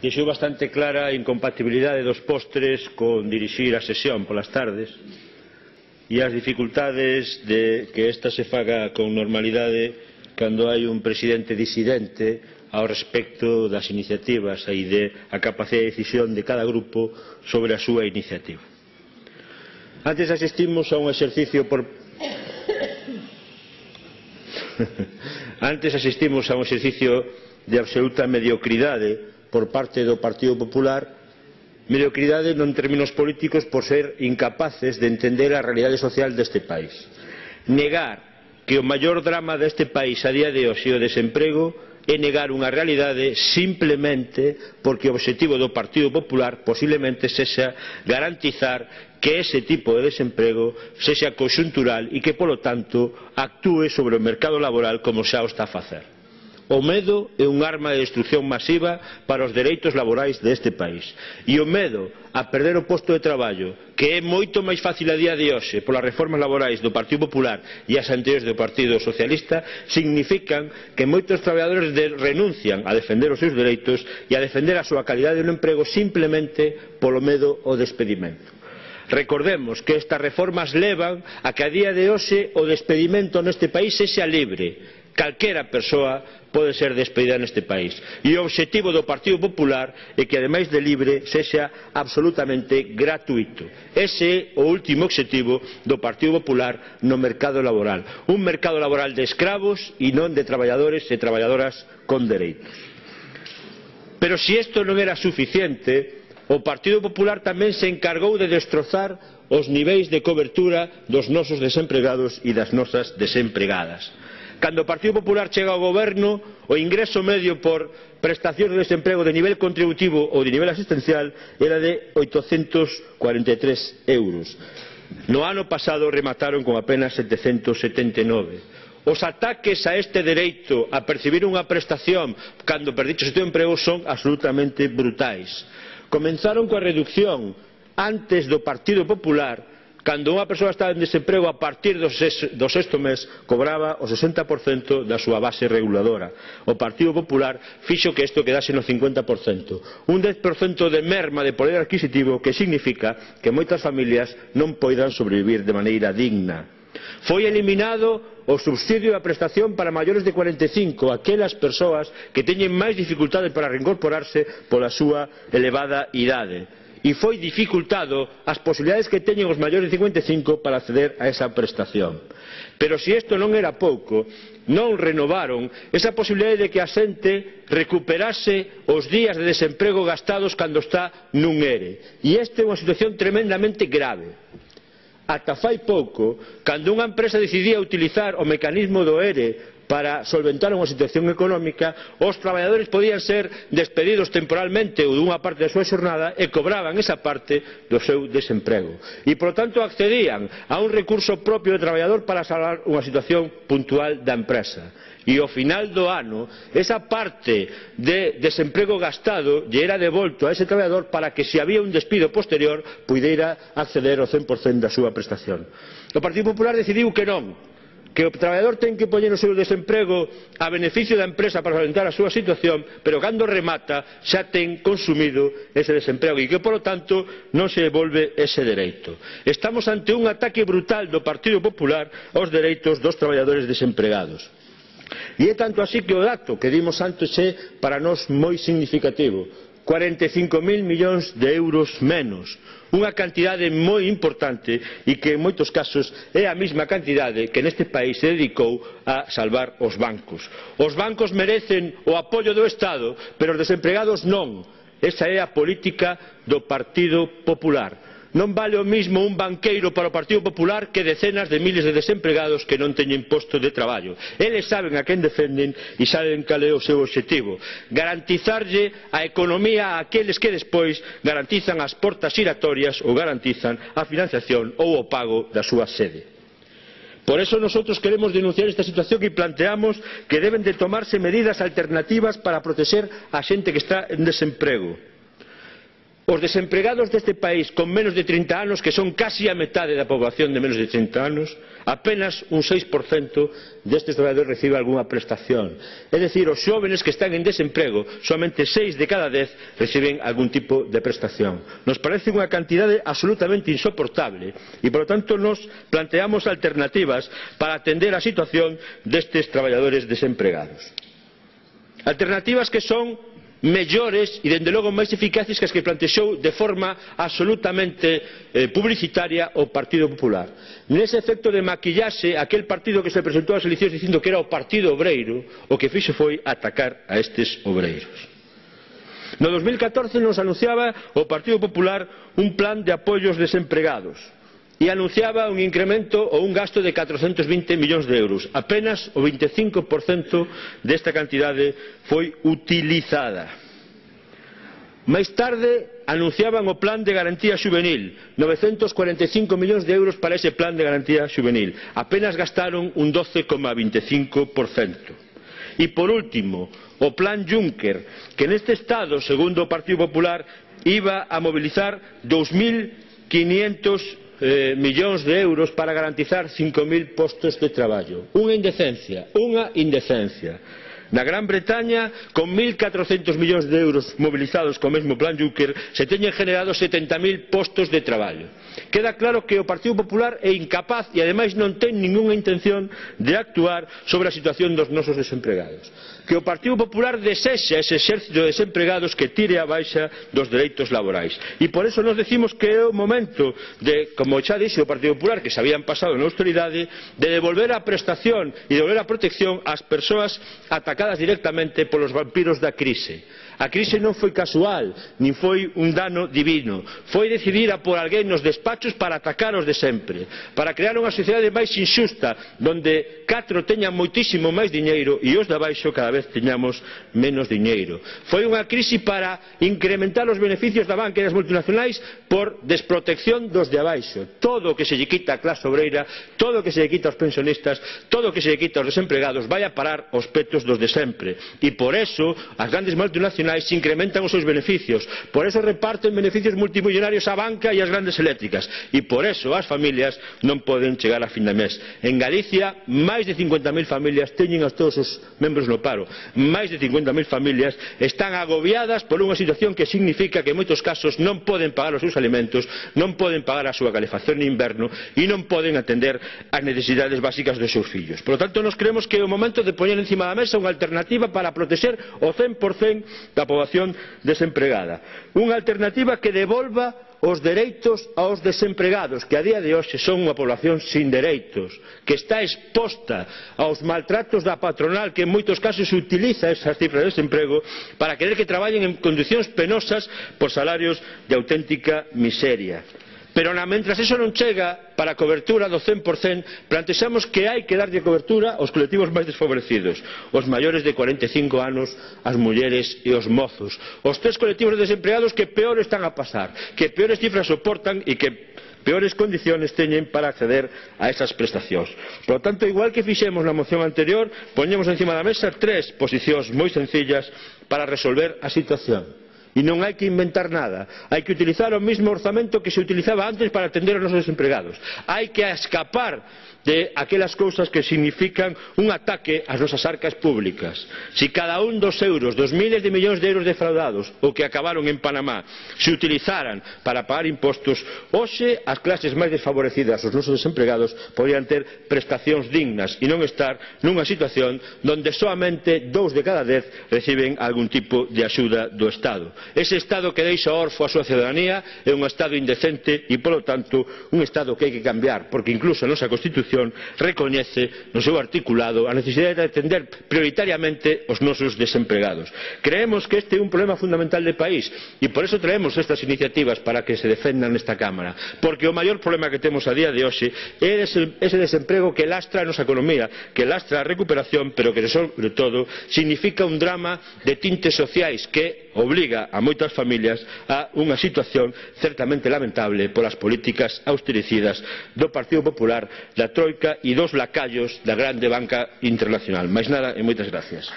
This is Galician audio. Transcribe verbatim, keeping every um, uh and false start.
deixou bastante clara a incompatibilidade dos postres con dirixir a sesión polas tardes e as dificultades de que esta se faga con normalidade cando hai un presidente disidente ao respecto das iniciativas e de a capacidade de decisión de cada grupo sobre a súa iniciativa. Antes asistimos a un exercicio por Antes asistimos a un exercicio de absoluta mediocridade por parte do Partido Popular, mediocridade non en términos políticos por ser incapaces de entender a realidade social deste país. Negar que o maior drama deste país a día de hoxe é o desemprego é negar unha realidade simplemente porque o obxectivo do Partido Popular posiblemente sexa garantizar que ese tipo de desemprego sexa conxuntural e que, polo tanto, actúe sobre o mercado laboral como xa o está a facer. O medo é un arma de destrucción masiva para os dereitos laborais deste país. E o medo a perder o posto de traballo, que é moito máis fácil a día de hoxe polas reformas laborais do Partido Popular e as anteriores do Partido Socialista, significan que moitos traballadores de, renuncian a defender os seus dereitos e a defender a súa calidade no emprego simplemente polo medo ao despedimento. Recordemos que estas reformas levan a que a día de hoxe o despedimento neste país sexa libre. Calquera persoa pode ser despedida neste país. E o obxectivo do Partido Popular é que, ademais de libre, sexa absolutamente gratuito. Ese é o último obxectivo do Partido Popular no mercado laboral. Un mercado laboral de escravos e non de traballadores e traballadoras con dereitos. Pero se isto non era suficiente, o Partido Popular tamén se encargou de destrozar os niveis de cobertura dos nosos desempregados e das nosas desempregadas. Cando o Partido Popular chega ao goberno, o ingreso medio por prestacións de desemprego de nivel contributivo ou de nivel asistencial era de oitocentos cuarenta e tres euros. No ano pasado remataron con apenas setecentos setenta e nove. Os ataques a este dereito a percibir unha prestación cando perdiches o teu emprego son absolutamente brutais. Comenzaron coa reducción antes do Partido Popular. Cando unha persoa estaba en desemprego, a partir do sexto mes cobraba o sesenta por cento da súa base reguladora. O Partido Popular fixo que isto quedase no cincuenta por cento. Un dez por cento de merma de poder adquisitivo que significa que moitas familias non poidan sobrevivir de maneira digna. Foi eliminado o subsidio e a prestación para maiores de cuarenta e cinco, aquelas persoas que teñen máis dificultades para reincorporarse pola súa elevada idade. E foi dificultado as posibilidades que teñen os maiores de cincuenta e cinco para acceder a esa prestación. Pero se isto non era pouco, non renovaron esa posibilidade de que a xente recuperase os días de desemprego gastados cando está nun ERE. E esta é unha situación tremendamente grave. Ata fai pouco, cando unha empresa decidía utilizar o mecanismo do ERE para solventar unha situación económica, os traballadores podían ser despedidos temporalmente ou dunha parte da súa xornada e cobraban esa parte do seu desemprego. E, por tanto, accedían a un recurso propio do traballador para salvar unha situación puntual da empresa. E ao final do ano, esa parte de desemprego gastado lle era devolto a ese traballador para que, se había un despido posterior, puidera acceder ao cen por cento da súa prestación. O Partido Popular decidiu que non, que o traballador ten que poñer o seu desemprego a beneficio da empresa para solventar a súa situación, pero cando remata xa ten consumido ese desemprego e que, polo tanto, non se devolve ese dereito. Estamos ante un ataque brutal do Partido Popular aos dereitos dos traballadores desempregados. E é tanto así que o dato que dimos antes é para nós moi significativo: cuarenta e cinco mil millóns de euros menos, unha cantidade moi importante e que en moitos casos é a mesma cantidade que neste país se dedicou a salvar os bancos. Os bancos merecen o apoio do Estado, pero os desempregados non. Esa é a política do Partido Popular. Non vale o mismo un banqueiro para o Partido Popular que decenas de miles de desempregados que non teñen posto de traballo. Eles saben a quen defenden e saben cal é o seu obxectivo: garantizarlle a economía a aqueles que despois garantizan as portas xiratorias ou garantizan a financiación ou o pago da súa sede. Por eso nosotros queremos denunciar esta situación e planteamos que deben de tomarse medidas alternativas para protexer a xente que está en desemprego. Os desempregados deste país con menos de trinta anos, que son casi a metade da poboación de menos de trinta anos, apenas un seis por cento destes traballadores recibe algunha prestación. É dicir, os xóvenes que están en desemprego, somente seis de cada dez reciben algún tipo de prestación. Nos parece unha cantidade absolutamente insoportable e, por lo tanto, nos planteamos alternativas para atender a situación destes traballadores desempregados. Alternativas que son mellores e, dende logo, máis eficaces que as que plantexou de forma absolutamente eh, publicitaria o Partido Popular. Nese efecto de maquillaxe, aquel partido que se presentou ás eleccións dicindo que era o Partido Obreiro, o que fixo foi atacar a estes obreiros. No dos mil catorce nos anunciaba o Partido Popular un plan de apoio aos desempregados e anunciaba un incremento ou un gasto de catrocentos vinte millóns de euros. Apenas o vinte e cinco por cento desta cantidade foi utilizada. Máis tarde anunciaban o plan de garantía xuvenil, novecentos cuarenta e cinco millóns de euros para ese plan de garantía xuvenil. Apenas gastaron un doce coma vinte e cinco por cento. E, por último, o plan Juncker, que neste estado, segundo o Partido Popular, iba a mobilizar dous mil quinientos Eh, millóns de euros para garantizar cinco mil postos de traballo. Unha indecencia, unha indecencia. Na Gran Bretaña, con mil catrocentos millóns de euros mobilizados co mesmo plan Juncker, se teñen generado setenta mil postos de traballo. Queda claro que o Partido Popular é incapaz e, ademais, non ten ningunha intención de actuar sobre a situación dos nosos desempregados. Que o Partido Popular desexa ese exército de desempregados que tire a baixa dos dereitos laborais. E por eso nos decimos que é o momento de, como xa dixe o Partido Popular, que se habían pasado na austeridade, de devolver a prestación e devolver a protección ás persoas atacadas directamente polos vampiros da crise. A crise non foi casual, nin foi un dano divino. Foi decidida por alguén nos despachos para atacar os de sempre, para crear unha sociedade máis injusta, donde catro teñan moitísimo máis diñeiro e os de abaixo cada vez teñamos menos diñeiro. Foi unha crise para incrementar os beneficios da banca e das multinacionais por desprotección dos de abaixo. Todo o que se lle quita á clase obreira, todo o que se lle quita aos pensionistas, todo o que se lle quita aos desempregados vai a parar aos petos dos de sempre. E por eso as grandes multinacionais se incrementan os seus beneficios, por eso reparten beneficios multimillonarios á banca e ás grandes eléctricas, e por eso as familias non poden chegar a fin de mes. En Galicia, máis de cincuenta mil familias teñen a todos os membros no paro. Máis de cincuenta mil familias están agobiadas por unha situación que significa que en moitos casos non poden pagar os seus alimentos, non poden pagar a súa calefacción en inverno e non poden atender as necesidades básicas dos seus fillos. Por lo tanto, nos creemos que é o momento de poñer encima da mesa unha alternativa para protexer o cen por cento da poboación desempregada. Unha alternativa que devolva os dereitos aos desempregados, que a día de hoxe son unha poboación sin dereitos, que está exposta aos maltratos da patronal, que en moitos casos utiliza esas cifras de desemprego para querer que traballen en condicións penosas por salarios de auténtica miseria. Pero, mentras eso non chega, para a cobertura do cen por cento, plantexamos que hai que darlle cobertura aos colectivos máis desfavorecidos, os maiores de cuarenta e cinco anos, as mulleres e os mozos, os tres colectivos de desempregados que peor están a pasar, que peores cifras soportan e que peores condiciones teñen para acceder a esas prestacións. Por lo tanto, igual que fixemos na moción anterior, poñemos encima da mesa tres posicións moi sencillas para resolver a situación. E non hai que inventar nada, hai que utilizar o mesmo orzamento que se utilizaba antes para atender aos nosos desempregados. Hai que escapar de aquelas cousas que significan un ataque ás nosas arcas públicas. Se cada un dos euros, dos miles de millóns de euros defraudados ou que acabaron en Panamá se utilizaran para pagar impostos, hoxe as clases máis desfavorecidas, os nosos desempregados, podrían ter prestacións dignas e non estar nunha situación onde soamente dous de cada dez reciben algún tipo de axuda do Estado. Ese Estado que deixa orfo a súa ciudadanía é un Estado indecente e, polo tanto, un Estado que hai que cambiar, porque incluso a nosa Constitución recoñece no seu articulado a necesidade de atender prioritariamente os nosos desempregados. Creemos que este é un problema fundamental de país e por eso traemos estas iniciativas para que se defendan nesta Cámara, porque o maior problema que temos a día de hoxe é ese desemprego que lastra a nosa economía, que lastra a recuperación, pero que, sobre todo, significa un drama de tintes sociais que obliga a moitas familias a unha situación certamente lamentable polas políticas austericidas do Partido Popular, da Troika e dos lacayos da grande banca internacional. Máis nada e moitas gracias.